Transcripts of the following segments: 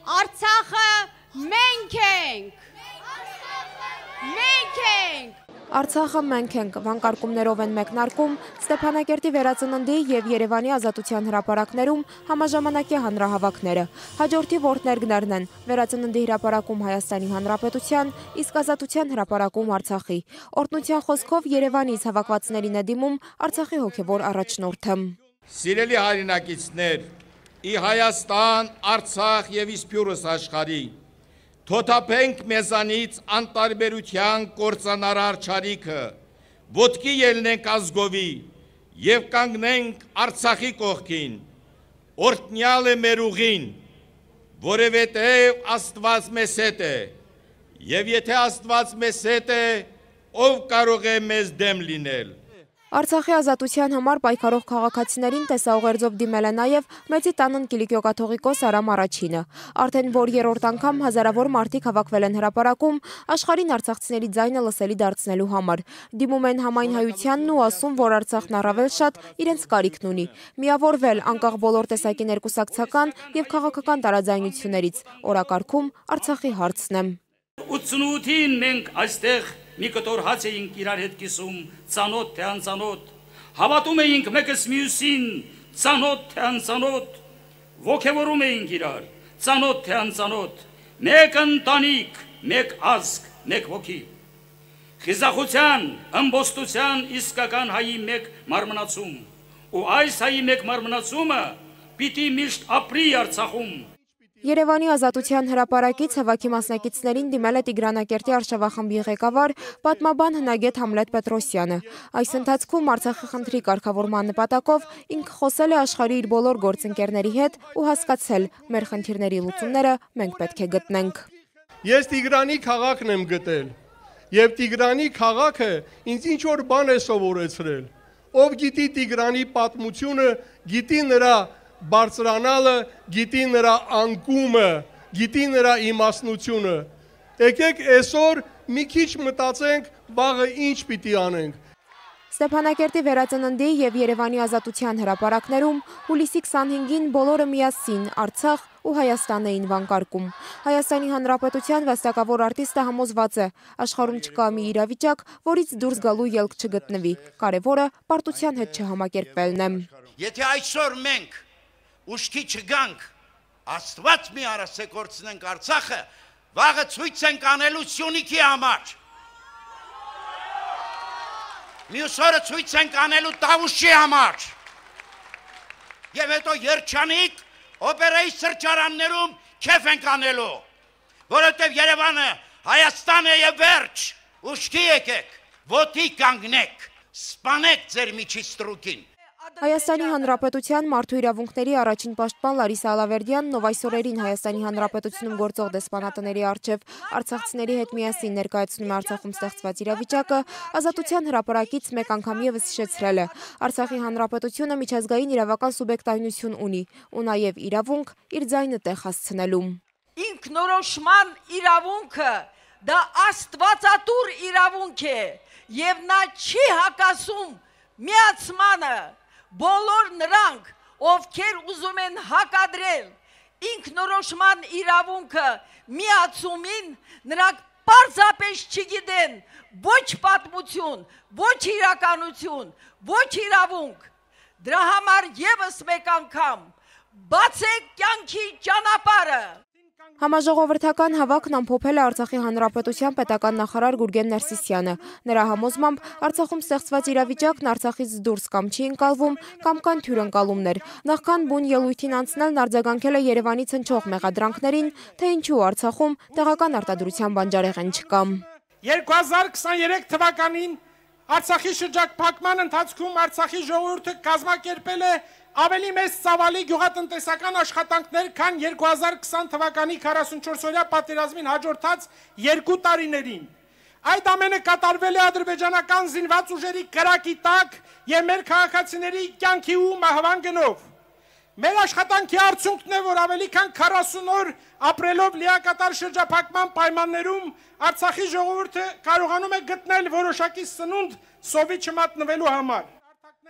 Արցախը մենք ենք։ Մենք ենք։ Արցախը մենք ենք վանկարկումներով են մեկնարկում Ստեփանակերտի վերածննդի եւ Երևանի ազատության հրապարակներում համաժամանակի հանրահավաքները։ Հաջորդի որդներգներն են վերածննդի հրապարակում Հայաստանի Հանրապետության, իսկ ազատության հրապարակում Արցախի։ Օրհնության խոսքով Երևանից հավաքվածներին է դիմում Արցախի հոգևոր առաջնորդը։ Սիրելի հայրենակիցներ, ի Հայաստան, Արցախ եւ իսպյուրս աշխարհի Թոթափենք մեզանից անտարբերության կործանարար չարիքը, ոտքի ելնենք ազգովի և կանգնենք Արցախի կողքին, օրհնյալ է մեր ուղին, որովհետև Աստված մեզ հետ է, և եթե Աստված մեզ հետ է, ով կարող է մեզ դեմ լինել։ Արցախի ազատության համար պայքարող քաղաքացիներին տեսաուղերձով դիմել է նաև Մեծի տանն Կիլիկիո կաթողիկոս Արամ Առաջինը։ Արդեն որ երրորդ անգամ հազարավոր մարդիկ հավաքվել են հրապարակում աշխարհին արցախցիների ձայնը լսելի դարձնելու համար։ Դիմում են համայն հայությանն ու ասում, որ Արցախն առավել շատ իրենց կարիքն ունի։ Միավորվել անկախ բոլոր տեսակի ներկուսակցական եւ քաղաքական տարաձայնություններից։ Օրակարգում Արցախի հարցն է։ 88-ին մենք այստեղ մի կտոր հաց էինք իրար հետ կիսում, ծանոթ թե անծանոթ, հավատում էինք մեկս մյուսին, ծանոթ թե անծանոթ, ոգևորում էինք իրար, ծանոթ թե անծանոթ, մեկ ընտանիք, մեկ ազգ, մեկ ոգի, խիզախության, ըմբոստության իսկական հայի մեկ մարմնացում, ու այս հայի մեկ մարմնացումը պիտի միշտ ապրի Արցախում։ Երևանի ազատության հրապարակից հավաքի մասնակիցներին դիմել է Տիգրանակերտի արշավախմբի ղեկավար պատմաբան հնագետ Համլետ Պետրոսյանը։ Այս ընթացքում Արցախի խնդրի կարգավորման նպատակով ինքը խոսել է աշխարհի իր բոլոր գործընկերների հետ ու հասկացել, մեր խնդիրների լուծումները մենք պետք է գտնենք։ Ես Տիգրանի քաղաքն եմ գտել, եւ Տիգրանի քաղաքը ինձ ինչ որ բան է սովորեցրել։ Ով գիտի Տիգրանի պատմությունը, գիտի նրա բարձրանալը, գիտի նրա անկումը, գիտի նրա իմաստնությունը։ Եկեք այսօր մի քիչ մտածենք, վաղը ինչ պիտի անենք։ Ստեփանակերտի վերածննդի եւ Երևանի ազատության հրապարակներում հուլիսի 25-ին բոլորը միասին Արցախ ու Հայաստան էին վանկարկում։ Հայաստանի Հանրապետության վաստակավոր արտիստը համոզված է, աշխարհում չկա մի իրավիճակ, որից դուրս գալու ելք չգտնվի։ Կարևորը պարտության հետ չհամակերպվելն է։ Եթե այսօր մենք ուշքի չգանք, Աստված մի արասե կորցնենք Արցախը, վաղը ցույց ենք անելու Սյունիքի համար։ Մյուս օրը ցույց ենք անելու Տավուշի համար։ Եվ հետո երջանիկ օպերայի սրճարաններում քեֆ ենք անելու, որովհետև Երևանը Հայաստան է եւ վերջ։ Ուշքի եկեք, ոտի կանգնեք, սպանեք ձեր միջի ստրուկին։ Հայաստանի Հանրապետության մարդու իրավունքների առաջին պաշտպան Լարիսա Ալավերդյանն, ով այս օրերին Հայաստանի Հանրապետությունում գործող դեսպանատների առջև արցախցիների հետ միասին ներկայացնում է Արցախում ստեղծված իրավիճակը, ազատության հրապարակից մեկ անգամ ևս հիշեցրել է. Արցախի Հանրապետությունը միջազգային իրավական սուբյեկտայնություն ունի ու նաև իրավունք իր ձայնը տեղ հասցնելու։ Ինքնորոշման իրավունքը դա աստվածատուր իրավունք է եւ նա չի հակասում միացմանը։ Բոլոր նրանք, ովքեր ուզում են հակադրել ինքնորոշման իրավունքը միացումին, նրանք պարզապես չգիտեն ոչ պատմություն, ոչ իրականություն, ոչ իրավունք։ Դրա համար ևս մեկ անգամ բացեք կյանքի ճանապարհը։ Համաժողովրդական հավաքն ամփոփել է Արցախի Հանրապետության պետական նախարար Գուրգեն Ներսիսյանը։ Նրա համոզմամբ Արցախում ստեղծված իրավիճակն Արցախից դուրս կամ չի ընկալվում, կամ կան թյուրընկալումներ։ Նախքան բուն ելույթին անցնելն արձագանքել է Երևանից հնչող մեղադրանքներին, թե ինչու Արցախում տեղական արտադրության բանջարեղեն չկա։ 2023 թվականին Արցախի շրջափակման ընթացքում Արցախի ժողովուրդը կազմակերպել է ավելի մեծ ծավալի գյուղատնտեսական աշխատանքներ, քան 2020 թվականի 44-օրյա պատերազմին հաջորդած 2 տարիներին։ Այդ ամենը կատարվել է ադրբեջանական զինված ուժերի կրակի տակ եւ մեր քաղաքացիների կյանքի ու մահվան գնով։ Մեր աշխատանքի արդյունքն է, որ ավելի քան 40 օր ապրելով լիակատար շրջափակման պայմաններում Արցախի ժողովուրդը կարողանում է գտնել որոշակի սնունդ սովի չմատնվելու համար։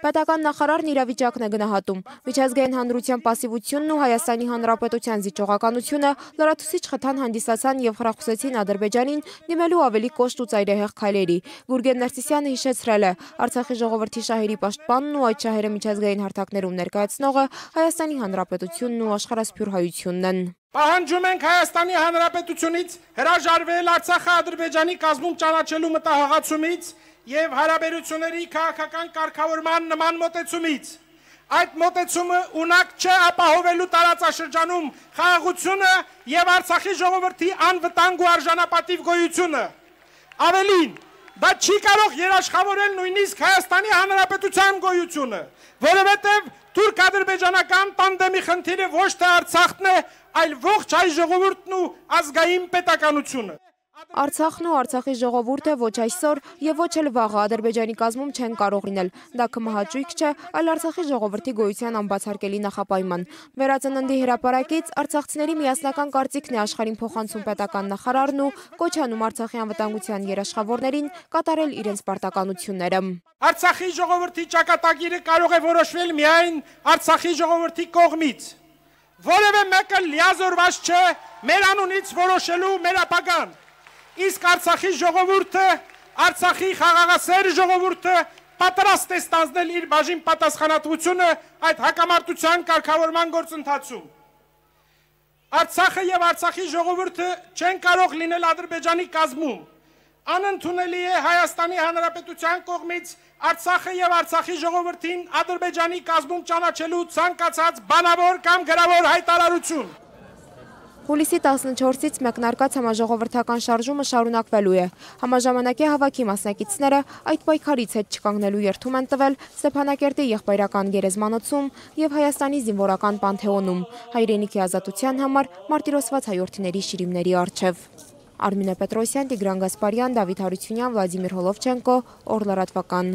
Պետական նախարարն իրավիճակն է գնահատում։ Միջազգային հանրության պասիվությունն ու Հայաստանի Հանրապետության զիջողականությունը լրացուցիչ խթան հանդիսացան եւ խրախուսեցին Ադրբեջանին դիմելու ավելի կոշտ ու ծայրահեղ քայլերի։ Գուրգեն Ներսիսյանը հիշեցրել է, Արցախի ժողովրդի շահերի պաշտպանն ու այդ շահերը միջազգային հարթակներում ներկայացնողը Հայաստանի Հանրապետությունն ու աշխարհասփյուր հայությունն են։ Պահանջում ենք Հայաստանի Հանրապետությունից հրաժարվել Արցախը Ադրբեջանի կազմում ճանաչելու մտահղացումից եւ հարաբերությունների քաղաքական կարգավորման նման մոտեցումից։ Այդ մոտեցումը ունակ չէ ապահովելու տարածաշրջանում խաղաղությունը եւ Արցախի ժողովրդի անվտանգ ու արժանապատիվ գոյությունը։ Ավելին, դա չի կարող երաշխավորել նույնիսկ Հայաստանի Հանրապետության գոյությունը, որովհետեւ թուրք-ադրբեջանական տանդեմի խնդիրը ոչ թե Արցախն է, այլ ողջ հայ ժողովուրդն ու ազգային պետականությունը։ Արցախն ու Արցախի ժողովուրդը ոչ այսօր եւ ոչ էլ վաղը Ադրբեջանի կազմում չեն կարող լինել։ Դա կմահաճույք չէ, այլ Արցախի ժողովրդի գոյության անբացարկելի նախապայման։ Վերածննդի հրապարակից արցախցիների միասնական կարծիքն է աշխարհին փոխանցում պետական նախարարն ու կոչ անում Արցախի անվտանգության երաշխավորներին կատարել իրենց պարտականությունները։ Արցախի ժողովրդի ճակատագիրը կարող է որոշվել միայն Արցախի ժողովրդի կողմից։ Որևէ մեկը լիազորված չէ մեր անունից որոշելու մեր ապագան։ Իսկ Արցախի ժողովուրդը, Արցախի խաղաղասեր ժողովուրդը պատրաստ է ստանձնել իր բաժին պատասխանատվությունը այդ հակամարտության կարգավորման գործընթացում։ Արցախը եւ Արցախի ժողովուրդը չեն կարող լինել Ադրբեջանի կազմում։ Անընդունելի է Հայաստանի Հանրապետության կողմից Արցախը եւ Արցախի ժողովրդին Ադրբեջանի կազմում ճանաչելու ցանկացած բանավոր կամ գրավոր հայտարարություն։ Հուլիսի 14-ից մեկնարկած համաժողովրդական շարժումը շարունակվելու է։ Համաժամանակի հավաքի մասնակիցները այդ պայքարից հետ չկանգնելու երդում են տվել Ստեփանակերտի եղբայրական գերեզմանոցում եւ Հայաստանի զինվորական պանթեոնում, հայրենիքի ազատության համար մարտիրոսված հայրենիների շիրիմների առջև։ Արմինե Պետրոսյան, Տիգրան Գասպարյան, Դավիթ Հարությունյան, Վլադիմիր Հոլովչենկո, Օր լրատվական։